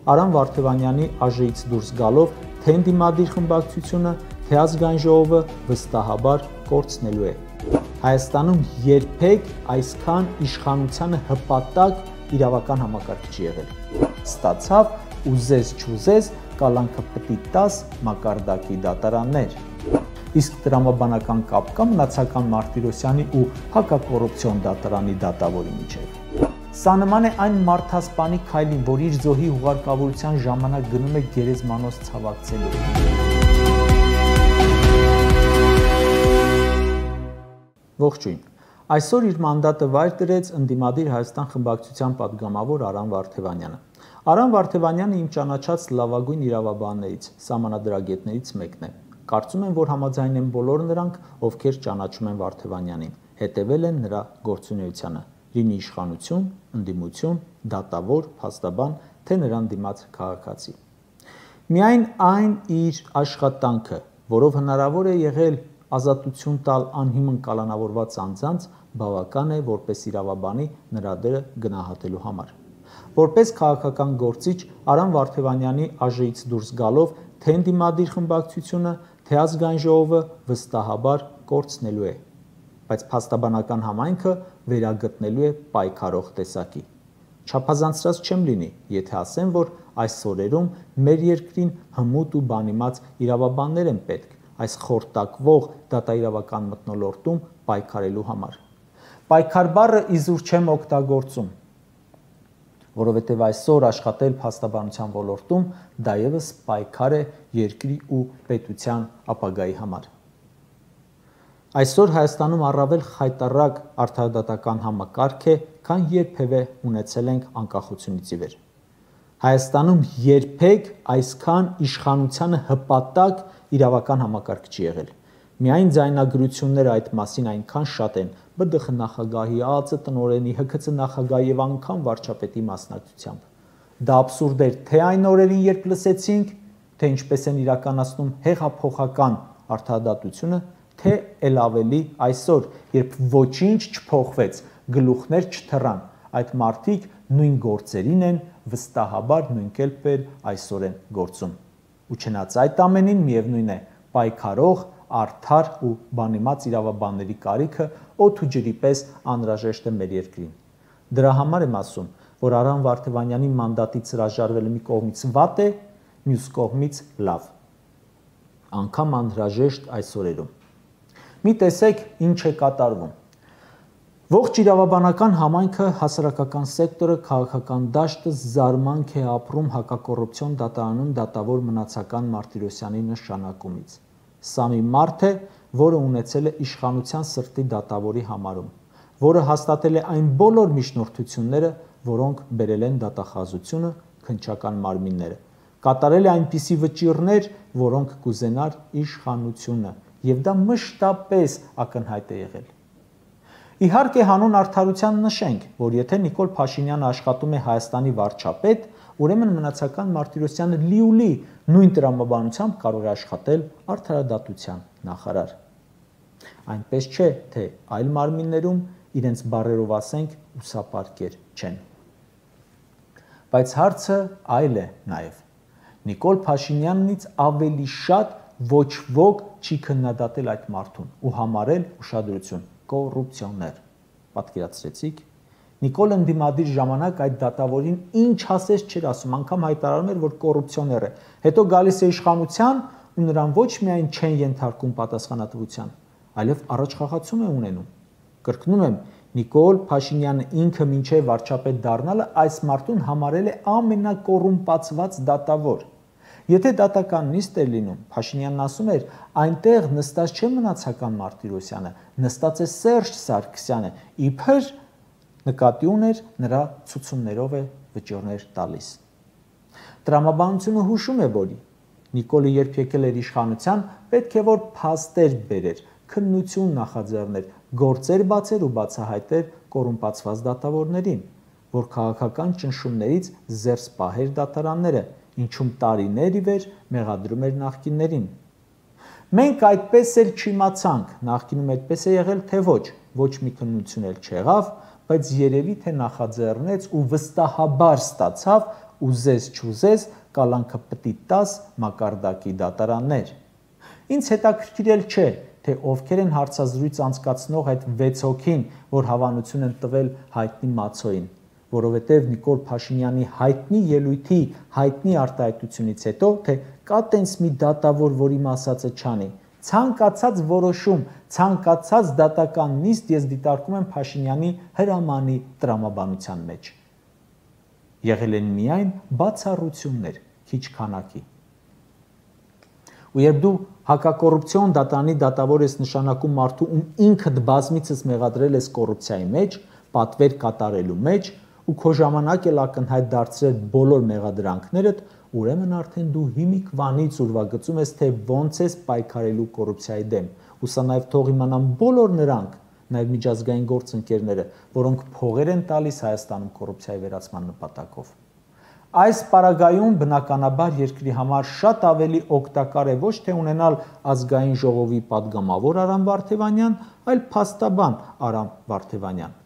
Արամ Վարդևանյանի ԱԺ-ից դուրս գալով թե ընդդիմադիր խմբակցությունը, թե ազգային ժողովը վստահաբար կորցնելու է։ Հայաստանում երբեք այսքան իշխանությանը հպատակ իրավական համակարգ չի եղել։ Ստացավ ուզես չուզես կալանքը պտի 10 մակարդակի դատարաններ։ Իսկ տրամաբանական կապ կա մնացական Մարտիրոսյանի ու հակակոռուպցիոն դատարանի դատավորի միջև։ Սա նման է այն մարդասպանի քայլին, որ իր զոհի հուղարկավորության ժամանակ գնում է գերեզմանոց ցավակցելու։ Ողջույն։ Այսօր իր մանդատը վայր դրեց ընդդիմադիր Հայաստան խմբակցության падգամավոր Արամ Վարդևանյանը։ Արամ Վարդևանյանը իմ ճանաչած լավագույն իրավաբաններից, սահմանադրագետներից մեկն է։ Կարծում եմ, որ համաձայն են բոլոր նրանք, ովքեր ճանաչում են Վարդևանյանին, հետևել են նրա գործունեությանը, լինի իշխանություն, ընդդիմություն, դատավոր, փաստաբան, թե նրան դիմաց քաղաքացի։ Միայն այն իր աշխատանքը, որով հնարավոր է եղել ազատություն տալ անհիմն կալանավորված անձանց, բավական է որպես իրավաբանի նրա դերը գնահատելու համար։ Որպես քաղաքական գործիչ Արամ Վարդևանյանի ԱԺ-ից դուրս գալով թե ընդդիմադիր խմբակցությունը, թե ազգային ժողովը վստահաբար կորցնելու է, բայց փաստաբանական համայնքը վերագտնելու է պայքարող տեսակի։ Չափազանցրած չեմ լինի, եթե ասեմ, որ այս օրերում մեր երկրին հմուտ ու բանիմաց իրավաբաններ են պետք այս խորտակվող դատաիրավական մթնոլորտում պայքարելու համար։ Պայքար բառը իզուր չեմ օգտագործում, որովհետև այսօր աշխատել փաստաբանության ոլորտում դա ևս պայքար է երկրի ու պետության ապագայի համար։ Այսօր Հայաստանում առավել խայտառակ արդարադատական համակարգ է, քան երբևէ ունեցել ենք անկախությունից ի վեր։ Հայաստանում երբեք այսքան իշխանությանը հպատակ իրավական համակարգ չի եղել։ Միայն ձայնագրությունները այդ մասին այնքան շատ են ԲԴԽ նախագահի, ԱԱԾ տնօրենի, ՀՔՑ նախագահի եւ անգամ վարչապետի մասնակցությամբ։ Դա աբսուրդ էր թե այն օրերին, երբ լսեցինք, թե ինչպես են իրականացնում հեղափոխական արդարադատությունը, թե ել ավելի այսօր, երբ ոչինչ չփոխվեց, գլուխներ չթռան, այդ մարդիկ նույն գործերին են վստահաբար նույն կերպ այսօր են գործում։ Ու չնայած այդ ամենին միևնույն է, պայքարող, արդար ու բանիմաց իրավաբանների կարիքը օդ ու ջրի պես անհրաժեշտ է մեր երկրին։ Դրա համար եմ ասում, որ Արամ Վարդևանյանի մանդատից հրաժարվելը մի կողմից վատ է, մյուս կողմից լավ։ Անգամ անհրաժեշտ այս օրերում։ Մի տեսեք ինչ է կատարվում։ Ողջ իրավաբանական համայնքը, հասարակական սեկտորը, քաղաքական դաշտը զարմանք է ապրում հակակոռուպցիոն դատարանում դատավոր մնացական Մարտիրոսյանի նշանակումից։ Սա մի մարդ է, որը ունեցել է իշխանության սրտի դատավորի համարում, որը հաստատել է այն բոլոր միջնորդությունները, որոնք բերել են դատախազությունը, քննչական մարմինները, կատարել է այնպիսի վճիռներ, որոնք կուզենար իշխանությունը, եւ դա մշտապես ակնհայտ է եղել։ Իհարկե հանուն արդարության նշենք, որ եթե Նիկոլ Փաշինյանը աշխատում է Հայաստանի վարչապետ, ուրեմն մնացական Մարտիրոսյանը լիուլի նույն տրամաբանությամբ կարող է աշխատել արդարադատության նախարար։ Այնպես չէ, թե այլ մարմիններում իրենց բառերով ասենք ուսապարկեր չեն։ Բայց հարցը այլ է նաև։ Նիկոլ Փաշինյանից ավելի շատ ոչ ոք չի քննադատել այդ մարդուն ու համարել ուշադրություն կոռուպցիոներ։ Պատկերացրեցիք, Նիկոլ ընդդիմադիր ժամանակ այդ դատավորին ինչ ասես չէր ասում, անգամ հայտարարում էր, որ կոռուպցիոներ է։ Հետո գալիս է իշխանության ու նրան ոչ միայն չեն ենթարկում պատասխանատվության, այլև առաջխաղացում է ունենում։ Կրկնում եմ, Նիկոլ Փաշինյանը ինքը մինչև վարչապետ դառնալը այս մարդուն համարել է ամենակոռումպացված դատավոր։ Եթե դատական նիստ էր լինում, Փաշինյանն ասում էր, այնտեղ նստած չէ մնացական Մարտիրոսյանը, նստած է Սերժ Սարգսյանը, իբր նկատի ուներ նրա ցուցումներով է վճիռներ տալիս։ Տրամաբանությունը հուշում է, որ Նիկոլը երբ եկել էր իշխանության, պետք է որ փաստեր բերեր, քննություն նախաձեռներ, գործեր բացեր ու բացահայտեր կոռումպացված դատավորներին, որ քաղաքական ճնշումներից զերծ պահեր դատարանները, ինչում տարիներ ի վեր մեղադրում էր նախկիններին։ Մենք այդպես էլ չիմացանք, նախկինում այդպես է եղել, թե ոչ մի քննություն էլ չեղավ, բայց երևի թե նախաձեռնեց ու վստահաբար ստացավ ուզես չուզես կալանքը պտի տաս մակարդակի դատարաններ։ Ինձ հետաքրքիրել չէ, թե ովքեր են հարցազրույց անցկացնող այդ 6 հոգին, որ հավանություն են տվել հայտնի Մացոյին, որովհետև Նիկոլ Փաշինյանի հայտնի ելույթի հայտնի արտահայտությունից հետո, թե կա տենց մի դատավոր, որ իմ ասածը չանի, ցանկացած որոշում, ցանկացած դատական նիստ ես դիտարկում եմ Փաշինյանի հրամանի տրամաբանության մեջ։ Եղել են միայն բացառություններ, քիչ քանակի։ Ու երբ դու հակակոռուպցիոն դատարանի դատավոր ես նշանակում մարդու, ում ինքդ բազմիցս մեղադրել ես կոռուպցիայի մեջ, պատվեր կատարելու մեջ, ու քո ժամանակ էլ ակնհայտ դարձրել բոլոր մեղադրանքներդ, ուրեմն արդեն դու հիմիկվանից ուրվագծում ես, թե ոնց ես պայքարելու կոռուպցիայի դեմ։ Ու սա նաև թող իմանան բոլոր նրանք, նաև միջազգային գործընկերները, որոնք փողեր են տալիս Հայաստանում կոռուպցիայի վերացման նպատակով։ Այս պարագայում բնականաբար երկրի համար շատ ավելի օգտակար է ոչ թե ունենալ ազգային ժողովի падգամավոր Արամ Վարդևանյան, այլ փաստաբան Արամ Վարդևանյան,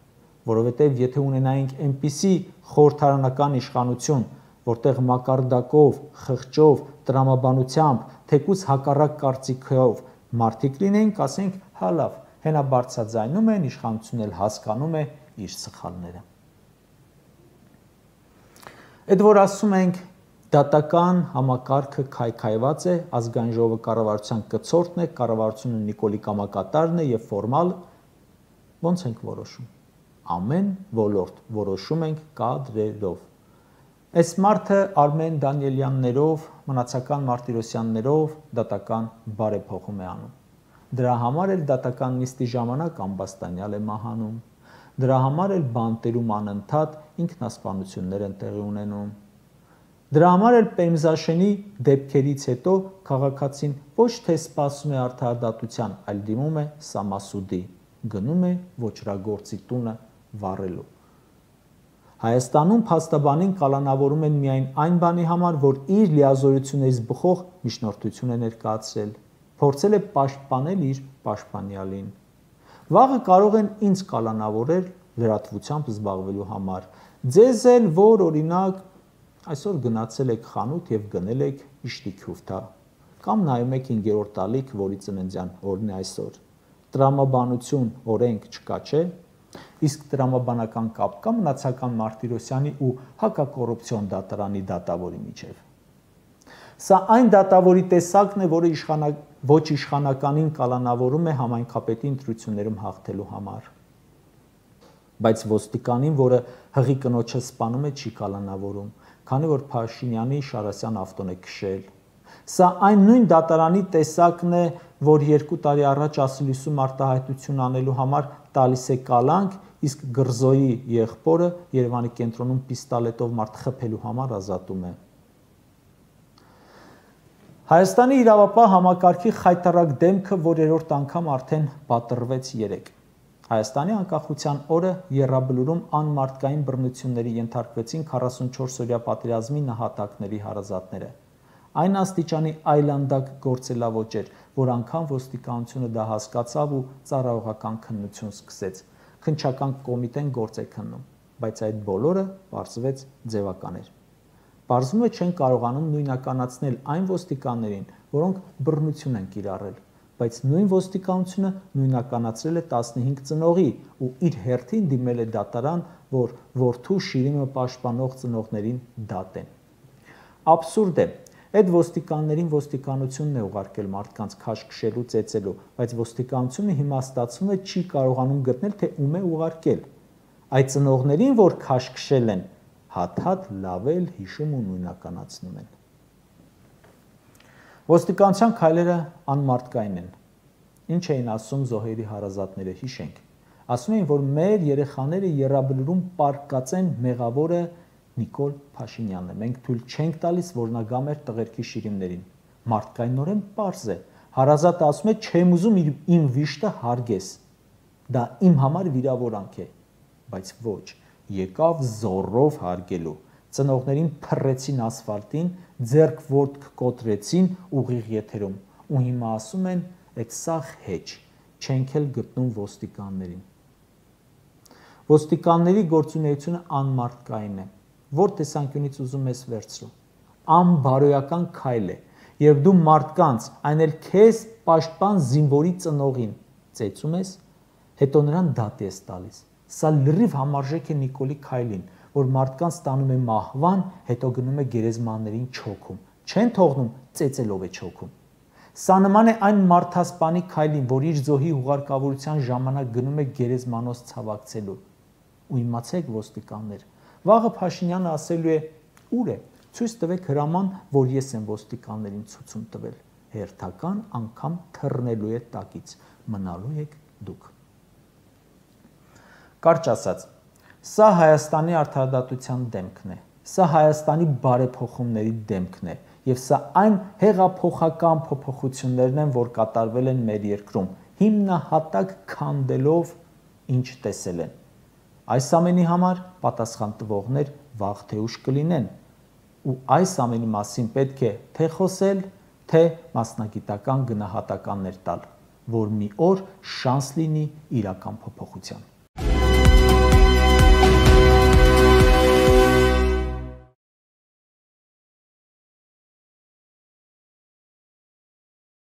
որովհետև եթե ունենայինք այնպիսի խորհրդարանական իշխանություն, որտեղ մակարդակով, խղճով, տրամաբանությամբ, թեկուզ հակառակ կարծիքով մարդիկ լինեին, կասենք, հա լավ, հենա բարձրաձայնում են, իշխանությունն էլ հասկանում է իր սխալները։ Այդ որ ասում ենք դատական համակարգը քայքայված է, ազգային ժողովը կառավարության կցորդն է, կառավարությունը Նիկոլի կամակատարն է եւ ֆորմալ, ոնց ենք որոշում։ Ամեն ոլորտ որոշում ենք կադրերով։ Այս մարդը Արմեն Դանիելյաններով, մնացական Մարտիրոսյաններով դատական բարեփոխում է անում։ Դրա համար էլ դատական նիստի ժամանակ ամբաստանյալ է մահանում։ Դրա համար էլ բանտերում անընդհատ ինքնասպանություններ են տեղի ունենում։ Դրա համար էլ Պեմզաշենի դեպքերից հետո քաղաքացին ոչ թե սպասում է արդարադատության, այլ դիմում է Սամասուդի, գնում է ոչրագործի տունը վառելու։ Հայաստանում փաստաբանին կալանավորում են միայն այն բանի համար, որ իր լիազորություններից բխող միջնորդություն է ներկայացրել, փորձել է պաշտպանել իր պաշտպանյալին։ Վաղը կարող են ինձ կալանավորել լրատվությամբ զբաղվելու համար։ Ձեզ էլ, որ օրինակ այսօր գնացել եք խանութ եւ գնել եք իշտի քյուֆթա, կամ նայում եք 5-րդ տալիք, որի ծննդյան օրն է այսօր։ Տրամաբանություն օրենք չկա, չէ՞։ Իսկ տրամաբանական կապ կա մնացական Մարտիրոսյանի ու հակակոռուպցիոն դատարանի դատավորի միջև։ Սա այն դատավորի տեսակն է, որը ոչ իշխանականին կալանավորում է համայնքապետի ընտրություններում հաղթելու համար։ Բայց ոստիկանին, որը հղի կնոջը սպանում է, չի կալանավորում, քանի որ Փաշինյանի Շարասյան ավտոն է քշել։ Սա այն նույն դատարանի տեսակն է, որ 2 տարի առաջ ասիլիսում արտահայտություն անելու համար տալիս է կալանք, իսկ Գրզոյի եղբորը Երևանի կենտրոնում պիստոլետով մարդ խփելու համար ազատում է։ Հայաստանի իրավապահ համակարգի խայտառակ դեմքը, որ 3-րդ անգամ արդեն պատռվեց 3։ Հայաստանի անկախության օրը եռաբլուրում անմարդկային բռնությունների ենթարկվեցին 44-օրյա պատերազմի նահատակների հարազատները։ Այն աստիճանի այլանդակ գործելավոճ էր, որ անգամ ոստիկանությունը դա հասկացավ ու ծառայողական քննություն սկսեց։ Քննչական կոմիտեն գործ է քննում, բայց այդ բոլորը պարզվեց ձևական էր։ Պարզվում է չեն կարողանում նույնականացնել այն ոստիկաններին, որոնք բռնություն են կիրառել, բայց նույն ոստիկանությունը նույնականացրել է 15 ծնողի ու իր հերթին դիմել է դատարան, որ որդու շիրիմը պաշտպանող ծնողներին դատեն։ Աբսուրդ է, այդ ոստիկաններին ոստիկանությունն է ուղարկել մարդկանց քաշ քշելու, ծեծելու, բայց ոստիկանությունը հիմա ստացվում է չի կարողանում գտնել, թե ում է ուղարկել։ Այդ ծնողներին, որ քաշ քշել են, հատ-հատ լավել, հիշում ու նույնականացնում են։ Ոստիկանության քայլերը անմարդկային են։ Ինչ էին ասում զոհերի հարազատները, հիշենք։ Ասում էին, որ մեր երեխաները եռաբլուրում պարկած են մեղավորը Նիկոլ Փաշինյանն է։ Մենք թույլ չենք տալիս, որ նա գա մեր տղերքի շիրիմներին։ Մարդկայնորեն պարզ է։ Հարազատը ասում է, չեմ ուզում իմ վիշտը հարգես։ Դա իմ համար վիրավորանք է, բայց ոչ, եկավ զոռով հարգելու։ Ծնողներին փռեցին ասֆալտին, ձեռք ոտք կոտրեցին ուղիղ եթերում, ու հիմա ասում են, այդ սաղ հեչ, չենք էլ գտնում ոստիկաններին։ Ոստիկանների գործունեությունը անմարդկային է, որ տեսանկյունից ուզում ես վերցրու։ Անբարոյական քայլ է, երբ դու մարդկանց, այն էլ քեզ պաշտպան զինվորի ծնողին ծեծում ես, հետո նրան դատի ես տալիս։ Սա լրիվ համարժեք է Նիկոլի քայլին, որ մարդկանց տանում է մահվան, հետո գնում է գերեզմաններին չոքում, չեն թողնում, ծեծելով է չոքում։ Սա նման է այն մարդասպանի քայլին, որ իր զոհի հուղարկավորության ժամանակ գնում է գերեզմանոց ցավակցելու։ Ու իմացեք ոստիկաններ, վաղը Փաշինյանը ասելու է՝ ուր է, ցույց տվեք հրաման, որ ես եմ ոստիկաններին ցուցում տվել, հերթական անգամ թռնելու է տակից, մնալու եք դուք։ Կարճ ասած, սա Հայաստանի արդարադատության դեմքն է, սա Հայաստանի բարեփոխումների դեմքն է, եւ սա այն հեղափոխական փոփոխություններն են, որ կատարվել են մեր երկրում, հիմնահատակ քանդելով ինչ տեսել են։ Այս ամենի համար պատասխան տվողներ վաղ թե ուշ կլինեն, ու այս ամենի մասին պետք է թե խոսել, թե մասնագիտական գնահատականներ տալ, որ մի օր շանս լինի իրական փոփոխության։